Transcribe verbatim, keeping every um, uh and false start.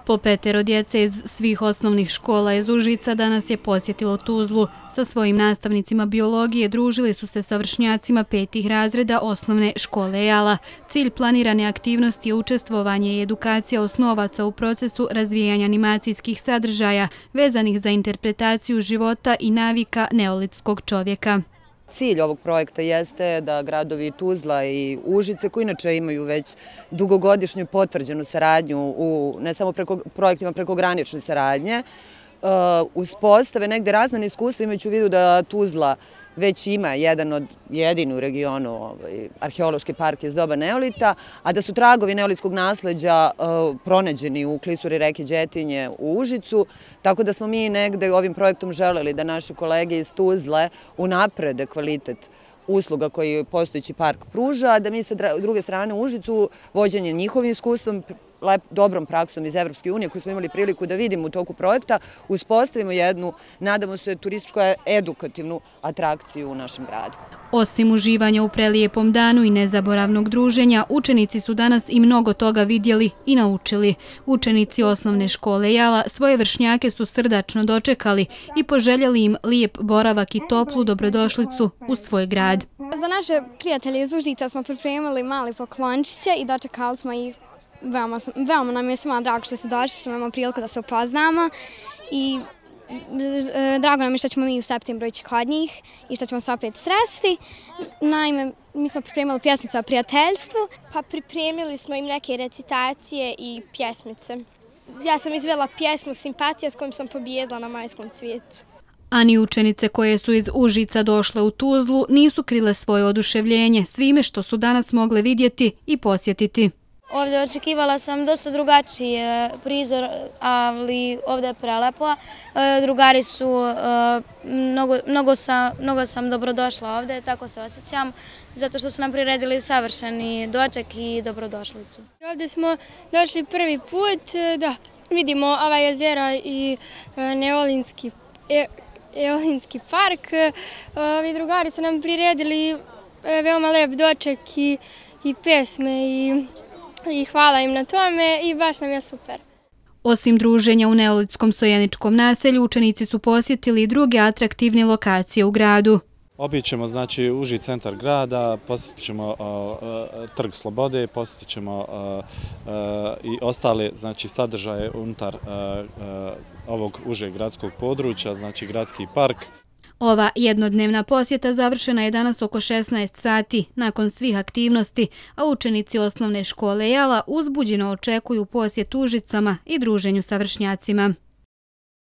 Po petero djece iz svih osnovnih škola iz Užica danas je posjetilo Tuzlu. Sa svojim nastavnicima biologije družili su se sa vršnjacima petih razreda osnovne škole Jala. Cilj planirane aktivnosti je učestvovanje i edukacija osnovaca u procesu razvijanja animacijskih sadržaja vezanih za interpretaciju života i navika neolitskog čovjeka. Cilj ovog projekta jeste da gradovi Tuzla i Užice, koji inače imaju već dugogodišnju potvrđenu saradnju u ne samo preko, projektima prekogranične saradnje, uspostave negde razmene iskustva, imajući u vidu da Tuzla već ima jedan od jedini u regionu ovaj, arheološki park iz doba neolita, a da su tragovi neolitskog nasleđa uh, pronađeni u klisuri reke Đetinje u Užicu, tako da smo mi negde ovim projektom želeli da naše kolege iz Tuzle unaprede kvalitet usluga koji postojeći park pruža, a da mi sa druge strane u Užicu vođenje njihovim iskustvom, lep, dobrom praksom iz Evropske unije koju smo imali priliku da vidimo u toku projekta, uspostavimo jednu, nadamo se, turističko-edukativnu atrakciju u našem gradu. Osim uživanja u prelijepom danu i nezaboravnog druženja, učenici su danas i mnogo toga vidjeli i naučili. Učenici osnovne škole Jala svoje vršnjake su srdačno dočekali i poželjeli im lijep boravak i toplu dobrodošlicu u svoj grad. Za naše prijatelje iz Užica smo pripremili mali poklončiće i dočekali smo ih. Veoma, veoma nam je svima drago što su došli, što imamo priliku da se upoznamo i drago nam je što ćemo mi u septembru ići kod njih i što ćemo se opet sresti. Naime, mi smo pripremili pjesmicu o prijateljstvu. Pa pripremili smo im neke recitacije i pjesmice. Ja sam izvela pjesmu Simpatija s kojom sam pobijedila na Majskom cvijetu. A ni učenice koje su iz Užica došle u Tuzlu nisu krile svoje oduševljenje svime što su danas mogle vidjeti i posjetiti. Ovdje očekivala sam dosta drugačiji prizor, ali ovdje je prelepo. Drugari su, mnogo, mnogo, sam, mnogo sam dobrodošla ovdje, tako se osjećam, zato što su nam priredili savršeni doček i dobrodošlicu. Ovdje smo došli prvi put da vidimo ova jezera i neolinski, e, Eolinski park. Ovi drugari su nam priredili veoma lep doček i, i pesme i I hvala im na tome i baš nam je super. Osim druženja u neolitskom sojeničkom naselju, učenici su posjetili i druge atraktivne lokacije u gradu. Obićemo znači uži centar grada, posjetit ćemo uh, Trg Slobode, posjetit ćemo uh, uh, i ostale znači sadržaje unutar uh, uh, ovog užeg gradskog područja, znači gradski park. Ova jednodnevna posjeta završena je danas oko šesnaest sati nakon svih aktivnosti, a učenici osnovne škole Jala uzbuđeno očekuju posjet Užicama i druženju sa vršnjacima.